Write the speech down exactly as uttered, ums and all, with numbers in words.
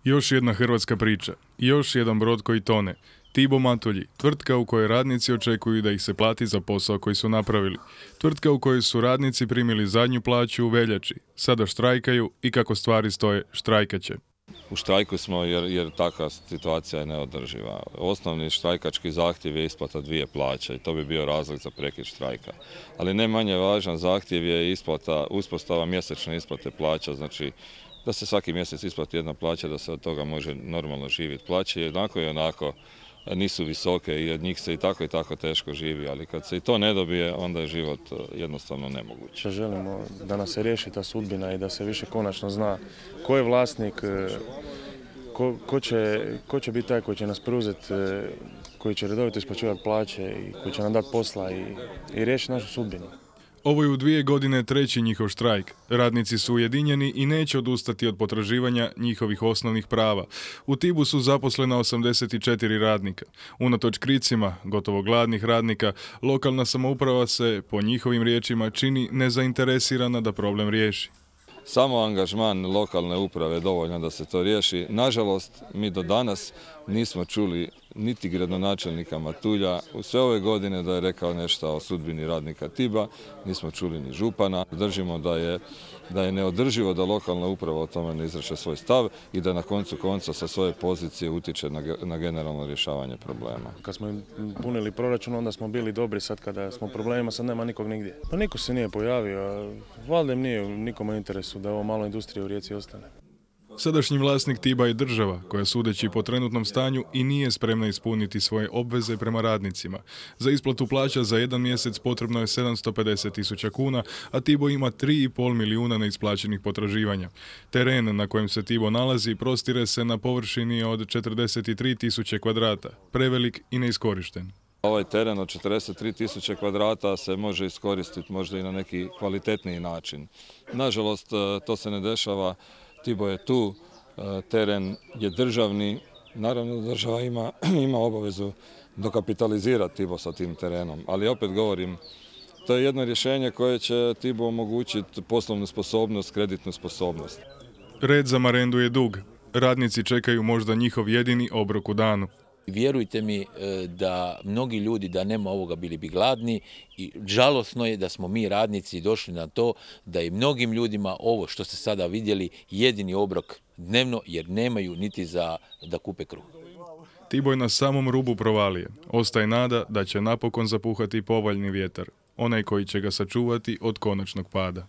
Još jedna hrvatska priča. Još jedan brod koji tone. Tibo Matulji, tvrtka u kojoj radnici očekuju da ih se plati za posao koji su napravili. Tvrtka u kojoj su radnici primili zadnju plaću u veljači. Sada štrajkaju i kako stvari stoje, štrajkat će. U štrajku smo jer, jer takva situacija je neodrživa. Osnovni štrajkački zahtjev je isplata dvije plaće i to bi bio razlog za prekid štrajka. Ali ne manje važan zahtjev je isplata, uspostava mjesečne isplate plaća, znači da se svaki mjesec isplati jedna plaća, da se od toga može normalno živjeti. Plaće jednako i onako nisu visoke i od njih se i tako i tako teško živi, ali kad se i to ne dobije, onda je život jednostavno nemoguć. Želimo da nas se riješi ta sudbina i da se više konačno zna ko je vlasnik, ko, ko, će, ko će biti taj koji će nas preuzeti, koji će redovito isplaćivati plaće i koji će nam dati posla i, i riješiti našu sudbinu. Ovo je u dvije godine treći njihov štrajk. Radnici su ujedinjeni i neće odustati od potraživanja njihovih osnovnih prava. U Tibu su zaposlena osamdeset četiri radnika. Unatoč kricima, gotovo gladnih radnika, lokalna samouprava se, po njihovim riječima, čini nezainteresirana da problem riješi. Samo angažman lokalne uprave je dovoljno da se to riješi. Nažalost, mi do danas nismo čuli niti gradonačelnika Matulja u sve ove godine da je rekao nešto o sudbini radnika Tiba, nismo čuli ni župana. Držimo da je, da je neodrživo da lokalna uprava o tome ne izraše svoj stav i da na koncu konca sa svoje pozicije utječe na, na generalno rješavanje problema. Kad smo im punili proračun, onda smo bili dobri, sad kada smo problemima, sad nema nikog nigdje. Pa niko se nije pojavio, valjda im nije nikome interesu da ovo malo industrije u Rijeci ostane. Sadašnji vlasnik Tiba je država, koja sudeći po trenutnom stanju i nije spremna ispuniti svoje obveze prema radnicima. Za isplatu plaća za jedan mjesec potrebno je sedamsto pedeset tisuća kuna, a Tibo ima tri i pol milijuna neisplaćenih potraživanja. Teren na kojem se Tibo nalazi prostire se na površini od četrdeset tri tisuće kvadrata, prevelik i neiskorišten. Ovaj teren od četrdeset tri tisuće kvadrata se može iskoristiti možda i na neki kvalitetniji način. Nažalost, to se ne dešava. Tibo je tu, teren je državni, naravno država ima, ima obavezu dokapitalizirati Tibo sa tim terenom, ali opet govorim, to je jedno rješenje koje će Tibo omogućiti poslovnu sposobnost, kreditnu sposobnost. Red za marendu je dug. Radnici čekaju možda njihov jedini obrok u danu. Vjerujte mi da mnogi ljudi da nema ovoga bili bi gladni i žalosno je da smo mi radnici došli na to da i mnogim ljudima ovo što ste sada vidjeli jedini obrok dnevno jer nemaju niti za da kupe kruh. Tibo je na samom rubu provalije. Ostaje nada da će napokon zapuhati povoljni vjetar, onaj koji će ga sačuvati od konačnog pada.